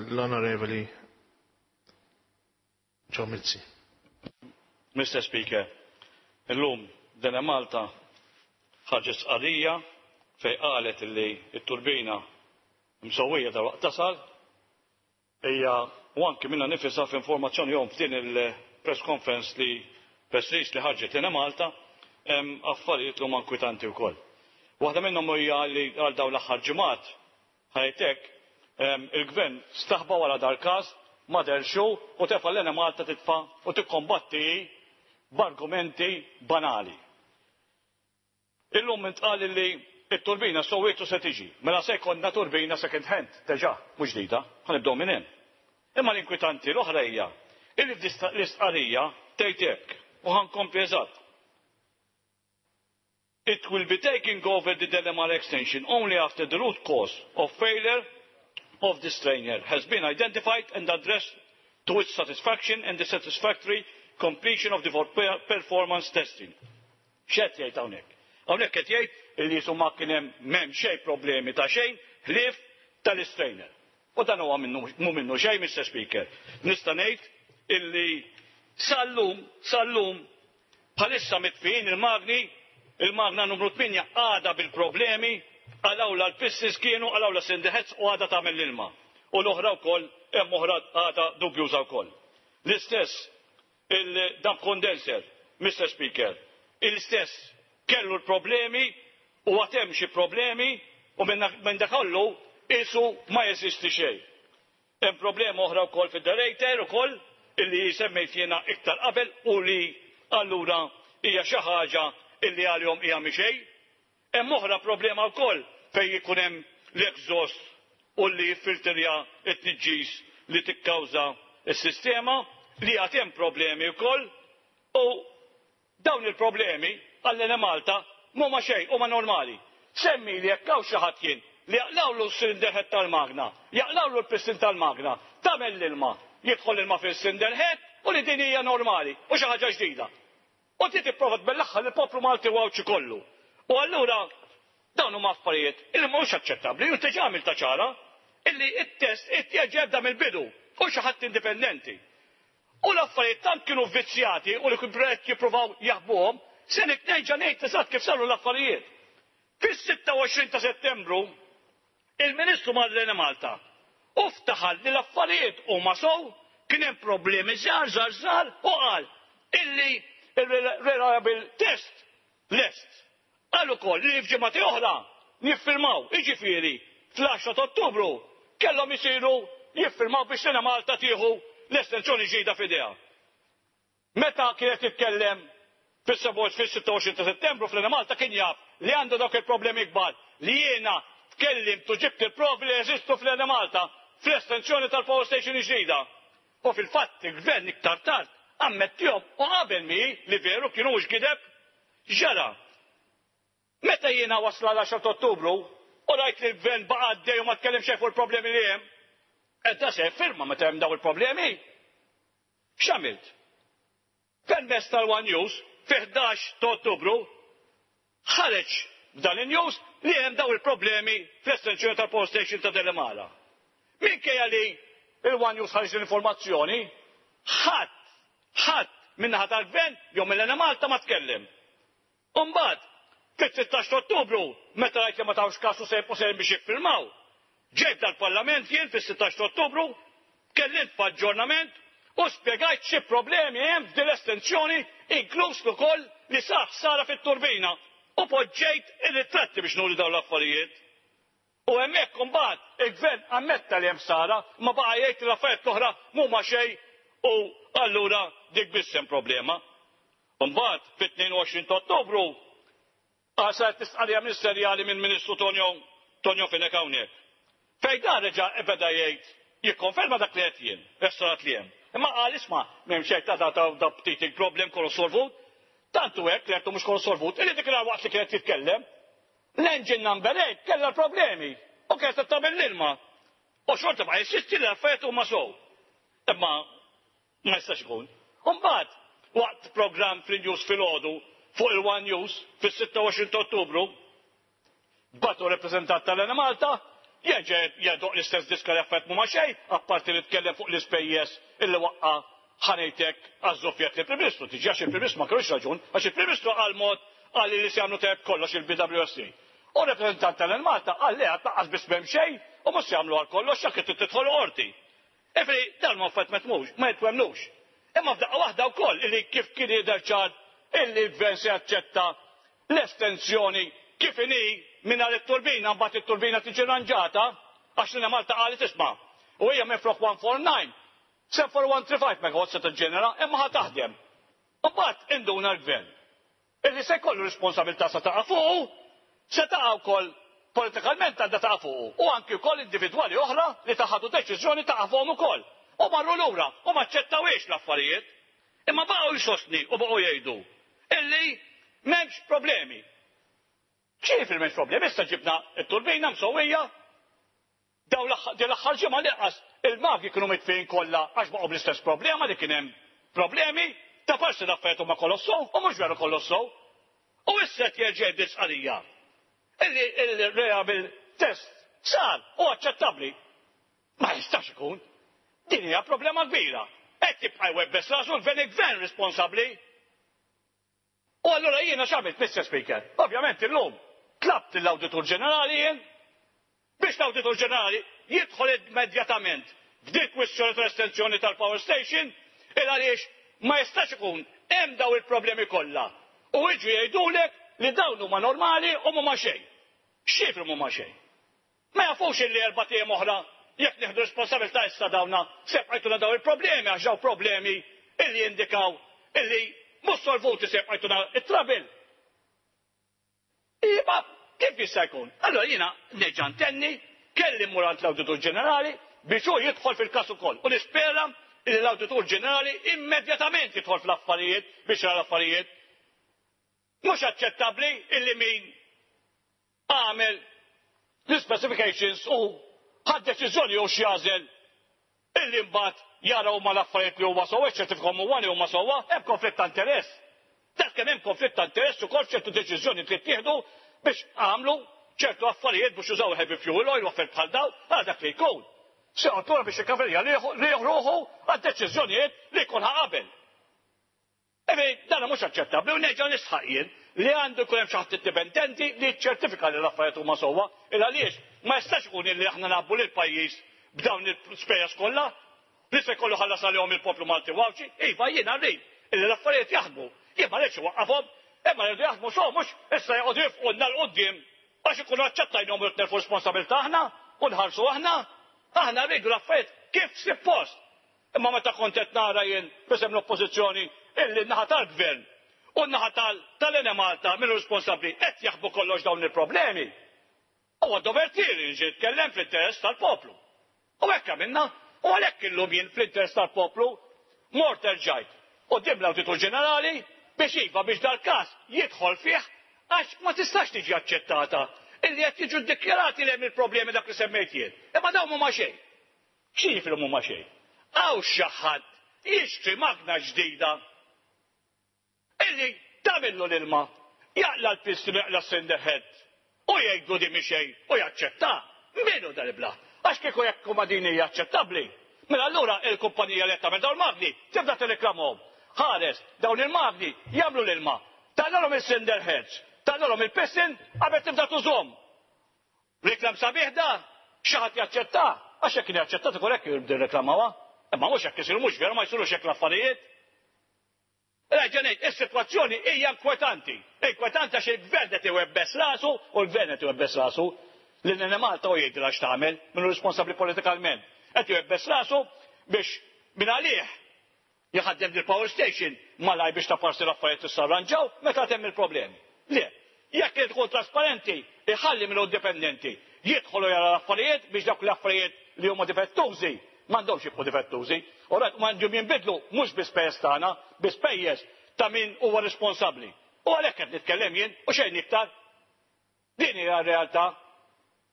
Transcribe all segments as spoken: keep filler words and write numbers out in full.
L-Onorevoli Joe Mizzi. Mister Speaker, illum l-Enemalta ħarġet stqarrija fejn qalet li t-turbina msewwija dalwaqt tasal hija, u anki minnha nifisha f'informazzjoni jom f'din il-press conference li press release li ħarġet l-Enemalta, hemm affarijiet li huma inkwitanti wkoll. Waħda minnhom hija li għal dawn l-aħħar ġimgħat ħajtek il-gvern staħba wara dal-każ, ma derxu u tefa' l-Enemalta titfa' u tikkombatti b'argumenti banali. Illum intqal li t-turbina sowietu se tiġi, mela se jkollna turbina second hand, diġà, mhux ġdida, ħa nibdew minn hemm. Imma l-inkwitanti l-oħra hija illi l-istqarrija tgħid hekk, u ħa nkompli eżatt. "It will be taking over the Delimara extension only after the root cause of failure of the strainer has been identified and addressed to its satisfaction and the satisfactory completion of the performance testing." X'qed jgħid hawnhekk? Hawnhekk qed jgħid li jisu ma kien hemm m'hemm xejn problemi ta' xejn ħlief tal-istrainer. U dan huwa minnu mhu minnu xejn, Mister Speaker. Nista' ngħid illi sal-lum, sal-lum bħalissa mitfijin il-magni, il-magna numru tmienja għadha bil-problemi, qalgħulha l-pistons kienu, qalgħulha cylinder heads u għadha tagħmel l-ilma. U l-oħra wkoll, hemm oħra għadha dubjuża wkoll. L-istess il-dump condenser, Mister Speaker, l-istess kellu l-problemi u għad hemm xi problemi u minn dak kollu isu ma jeżisti xejn. Hemm problema oħra wkoll fid-deaerator ukoll illi semmejt jiena iktar qabel u li allura hija xi ħaġa illi għalihom hija mixej. Hemm oħra problema wkoll fejn ikun hemm l-exhaust u li jiffiltrja t-tniġġis li tikkawża s-sistema, li għad hemm problemi wkoll, u dawn il-problemi għall-Enemalta m'huma xejn, huma normali. Semmi li jekk hawn xi ħadd kien li jaqlawlu s-cylinder head tal-magna, jaqlawlu l-piston tal-magna, tagħmel l-ilma, jidħol ilma fil-cylinder head u li din hija normali u xi ħaġa ġdida. U ti tipprova tbellaħħa lill-poplu Malti u Għawdxi kollu. U allura dawn huma affarijiet illi mhux aċċettabbli, u diġà għamilta ċara illi it-test ittieġeb mill-bidu u xi ħadd indipendenti. U l-affarijiet tant kienu vizzjati u li qed jippruvaw jaħbuhom, se nerġa' ngħid eżatt kif saru l-affarijiet. Fis-sitta u għoxrin ta' Settembru, il-Ministru mar l-Enemalta u ftaħar li l-affarijiet huma sow, kien hemm problemi żgħar żgħar żgħar u qal illi il-reliable test lest. Qal ukoll li f'ġimgħati oħra niffirmaw, jiġifieri fl-għaxra ta' Ottubru kellhom isiru jiffirmaw biex l-Enemalta tieħu l-estensjoni ġdida f'idejha. Meta kienet jitkellem fis-sitta u għoxrin ta' Settembru fl-Enemalta kien jaf li għandu dawk il-problemi kbar li jiena tkellimt u ġibt il-provi li jeżistu fl-Enemalta fl-estensjoni tal-power station ġdida. U fil-fatt il-gvern iktar tard ammettihom u qabel mi li veru kienu mhux gideb. Ġara. Meta jiena wasla l-għaxra ta' Ottubru u rajt li l-gvern baqa' għaddej u ma tkellem xejn fuq il-problemi li hemm, qed se firma meta hemm daw il-problemi. X'għamilt? Permezz tal-One News fi ħdax ta' Ottubru ħareġ f'dan il-news li hemm daw il-problemi fl-estensjoni tal-power station ta' Delimara. Minkejja li il-One News ħareġ l-informazzjoni, ħadd, ħadd min-naħa tal-gvern jew mill-Enemalta ma tkellem. Umbagħad, fit-sittax ta' Ottubru, meta rajt li ma tawx kasu sejb u sejn biex jiffirmaw, ġejt dal-Parlament jien fis-sittax ta' Ottubru, tkellimt f'aġġornament u spjegajt xi problemi hemm f'din l-estensjoni, inkluż ukoll li sar ħsara fit-turbina, u poġġejt ir-ritratti biex nuri dawn l-affarijiet. U hemmhekk imbagħad il-gvern ammetta li hemm ħsara, ma baqa' jgħid li l-affarijiet l-oħra m'huma xejn u allura dik biss hemm problema. Imbagħad fit-tnejn u għoxrin ta' Ottubru saret istqarrija ministerjali minn Ministru Tonio, Tonio Fenech hawnhekk. Fejn dan reġa' beda jgħid jikkonferma dak li qed jien, restaurant li hemm. Imma qal isma' m'hemm xejn ta' da ta' da ftit il-problem kollu solvut. Tantu hekk li għedtu mhux kollu solvut, illi dik waqt li kienet jitkellem, l-engine number eight kellha l-problemi u kienet qed tagħmel l-ilma. U xorta ma jinsisti li l-affarijiet huma sow. Imma ma jistax ikun. U mbagħad waqt programm fil-news filgħodu fuq il-One News fis-sitta u għoxrin ta' Ottubru, batu rappreżentant tal-Enemalta Jerġa' jdoqq l-istess diska li affarijiet mhuma xejn, apparti li tkellem fuq l-ispejjeż illi waqqa' ħa ngħidlek għaż-żuffjett lill-Prim Ministru. Tiġi għax il-Prim Ministru ma kellux raġun, għax il-Prim Ministru qal mod qal li se jagħmlu tajjeb kollox il-B W S C. U rappreżentant tal-Malta qal li għad lanqas biss m'hemm xejn u mhux se jagħmlu għal kollox jekk trid tidħol qorti. Ifri, dan ma affarijiet ma tmux, ma jitwemnux. Imma f'daqqa waħda wkoll illi kif kien jidher ċar illi l-gvern se jaċċetta l-estensjoni kif inhi mingħajr it-turbina, mbagħad it-turbina tiġi ranġata, għax l Malta qalet isma' u hija minflok one four nine, seven four one three five megawatt se tiġġenera, imma ħa taħdem. Mbagħad induna l-gvern illi se jkollu responsabilità se taqa' fuqu, se taqa' wkoll politikalment għandha taqa' fuqu, u anki wkoll individwali oħra li taħadu deċiżjoni taqa' fuqhom ukoll. U marru lura u ma ċċettawiex l-affarijiet. Imma baqgħu jsostni u baqgħu jgħidu illi m'hemmx problemi. X'jiġifieri m'hemmx problemi? Issa ġibna t-turbina msewwija, daw din l-aħħar ġimgħa li il-magi kienu mitfijin kollha għax baqgħu bl-istess problema li kien hemm problemi, ta' forsi l-affarijiet huma kolossow u mhux veru kolossow. U issa qed jerġa' jgħid sqarrija illi il-reliable test sar u aċċettabbli. Ma jistax ikun. Din hija problema kbira. Qed jibqa' jwebbes rasu l-gvern, il-gvern responsabbli. U allura jiena x'għamilt, Mister Speaker? Ovvjament illum tlabt l-Awditur Ġenerali jien biex l-Awditur Ġenerali jidħol immedjatament f'dik kwistjoni tal-estensjoni tal-power station, il għaliex ma jistax ikun hemm daw il-problemi kollha. U jiġu jgħidulek li dawn huma normali u mhuma xejn. X'jifru mhuma xejn? Ma jafux illi erba' ijiem oħra jekk nieħdu responsabilità issa dawna se jibqajtuna daw il-problemi, għax daw problemi illi jindikaw illi mhux solvuti se jibqajtuna it-trouble. Iva, kif jista' jkun? Allora jiena nerġa' ntenni, kelli mmur għand l-Awditur Ġenerali biex hu jidħol fil-każ ukoll. U nispera li l-Awditur Ġenerali immedjatament jidħol fl-affarijiet biex jara l-affarijiet. Mhux aċċettabbli illi min għamel l-specifications u ħad deċiżjoni u x'jażel illi mbagħad jara huma l-affarijiet li huma sewwa, ċertifikhom huwa li huma sewwa, hemm konflitt ta' interess. Dak kemm hemm konflitt ta' interess ukoll ċertu deċiżjoni li ttieħdu biex għamlu ċertu affarijiet biex użaw heavy fuel oil u affarijiet bħal daw, għal dak li jkun. Se joqgħod biex ikaverja ruħu għad-deċiżjonijiet li jkun ħa qabel. Evi, dan mhux aċċettabbli u nerġa' nisħaq jien li għandu jkun hemm xi ħadd indipendenti li jiċċertifika li l-affarijiet huma sewwa, il għaliex ma jistax ikun illi aħna nabbu lil pajjiż b'dawn il-spejjeż kollha li se jkollu ħallas għalihom il-poplu Malti u Għawdxi. Iva, jiena rrid illi l-affarijiet jaħdmu. Jien ma rridx iwaqqafhom, imma rridu jaħdmu sew, mhux issa joqogħdu jifqulna 'l quddiem għax ikunu aċċettajnhom u nerfu responsabilità aħna u nħarsu aħna. Aħna rridu l-affarijiet kif suppost. Imma meta kont qed nara jien b'isem l-Oppożizzjoni illi n-naħa tal-Gvern u n-naħa tal-Enemalta minnu responsabbli qed jaħbu kollox dawn il-problemi. Huwa dover tiegħi li nġi nitkellem fl-interess tal-poplu. U hekk għamilna, u għalhekk illum jien fl-interess tal-poplu mort erġajt quddiem l-Awditur Ġenerali biex iva biex dal-każ jidħol fih, għax ma tistax tiġi aċċettata illi qed jiġu ddikjarati li hemm il-problemi dak li semmejt jien. Imma dawn mhuma xejn. X'jiġifieri mhuma xejn? Hawn xi ħadd jixtri magna ġdida illi tagħmillu l-ilma, jaqla l-piston, jaqla s-cylinder head u jgħidu di mhi xejn u jaċċetta. Min hu dal-iblah? Għax kieku jekk huma din hija aċċettabbli, mela allura il-kumpanija li qed tagħmel dawn il-magni tibda tirreklamhom. Ħares, dawn il-magni jagħmlu l-ilma, tagħmilhom il-cylinder heads, tagħmilhom il-piston qabel tibda tużhom. Reklam sabiħ da, xi ħadd jaċċetta, għax jekk kien jaċċetta ikun hekk jibda jirreklamawha. Imma mhux hekk isiru, mhux veru, ma jsirux hekk l-affarijiet. Reġa' ngħid, is-sitwazzjoni hija inkwetanti. Inkwetanti għax il-gvern qed iwebbes rasu u l-gvern qed iwebbes rasu li l-Enemalta u jgħidilha x'tagħmel, min hu responsabbli politikalment. Qed iwebbes rasu biex minn għalih jħaddem il-power station malaj biex ta' parsi l-affarijiet issa arranġaw meta temm il-problemi. Le, jekk irid tkun trasparenti, iħalli minnu indipendenti, jidħolu jara l-affarijiet biex dawk l-affarijiet li huma difettużi m'għandhomx jibqgħu difettużi. U rajt m'għandhom jinbidlu mhux bi spejjeż tagħna, bi spejjeż ta' min huwa responsabbli. U għalhekk qed nitkellem jien u xejn iktar. Din hija r-realtà.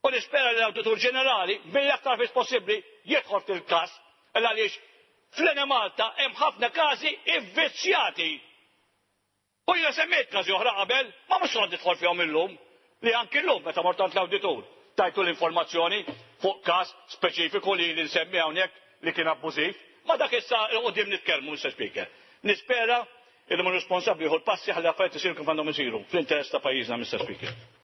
U nispera li l-Awditur Ġenerali mill-aktar fis possibbli jidħol fil-każ għaliex fl-Enemalta hemm ħafna każi ivvizzjati. U jiena semmejt każi oħra qabel, ma mhux qed nidħol fihom illum, li anki llum meta mort għand l-awditur. Tajtu l-informazzjoni fuq każ speċifiku li li nsemmi hawnhekk li kien abbużiv. Ma dak issa qudiem nitkellmu, Mister Speaker. Nispera il min responsabbli jieħu l-passi ħalli affarijiet isiru kif għandhom isiru fl-interess ta' pajjiżna, Mister Speaker.